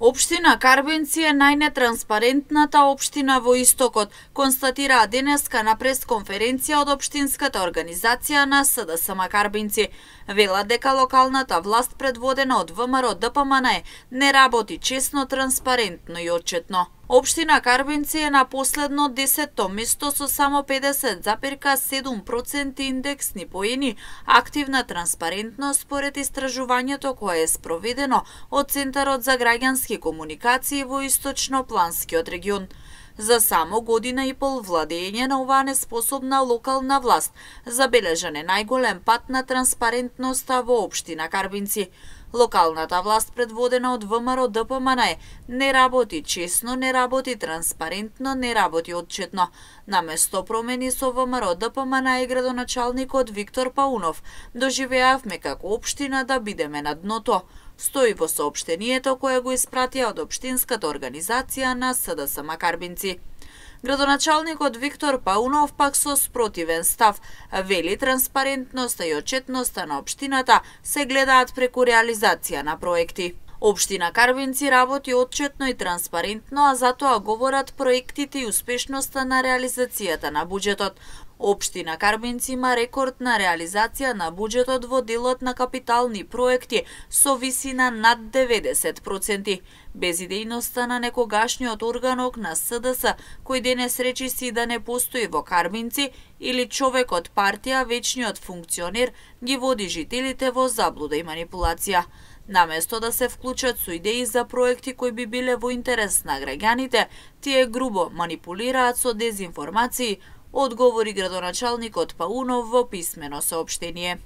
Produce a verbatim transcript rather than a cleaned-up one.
Општина Карбенци е најнетранспарентната општина во Истокот, констатираа денеска на пресконференција од општинската организација на СДСМ Карбенци. Велат дека локалната власт предводена од ВМРО Д П М Н не работи честно, транспарентно и отчетно. Општина Карбенци е на последно десетто место со само педесет запирка седум проценти индексни поени активна транспарентност според истражувањето кое е спроведено од Центарот за граѓански комуникации во Источно-планскиот регион. За само година и пол владење на оваа неспособна локална власт забележан е најголем пат на транспарентноста во општина Карбенци. Локалната власт предводена од ВМРО Д П М Н не работи честно, не работи транспарентно, не работи отчетно. Наместо промени со ВМРО Д П М Н и градоначалникот Виктор Паунов доживеавме како општина да бидеме на дното. Стои во соопштението кое го испратија од општинската организација на СДСМ Карбенци. Градоначалникот Виктор Паунов пак со спротивен став вели транспарентноста и отчетноста на општината се гледаат преку реализација на проекти. Општина Карбенци работи отчетно и транспарентно, а затоа говорат проектите и успешноста на реализацијата на буџетот. Општина Карбенци има рекорд на реализација на буџетот во делот на капитални проекти со висина над деветдесет проценти. Без идејноста на некогашниот органок на С Д С, кој денес речиси да не постои во Карбенци, или човек од партија, вечниот функционер, ги води жителите во заблуда и манипулација. Наместо да се вклучат со идеи за проекти кои би биле во интерес на граѓаните, тие грубо манипулираат со дезинформации, одговори градоначалникот Паунов во писмено соопштение.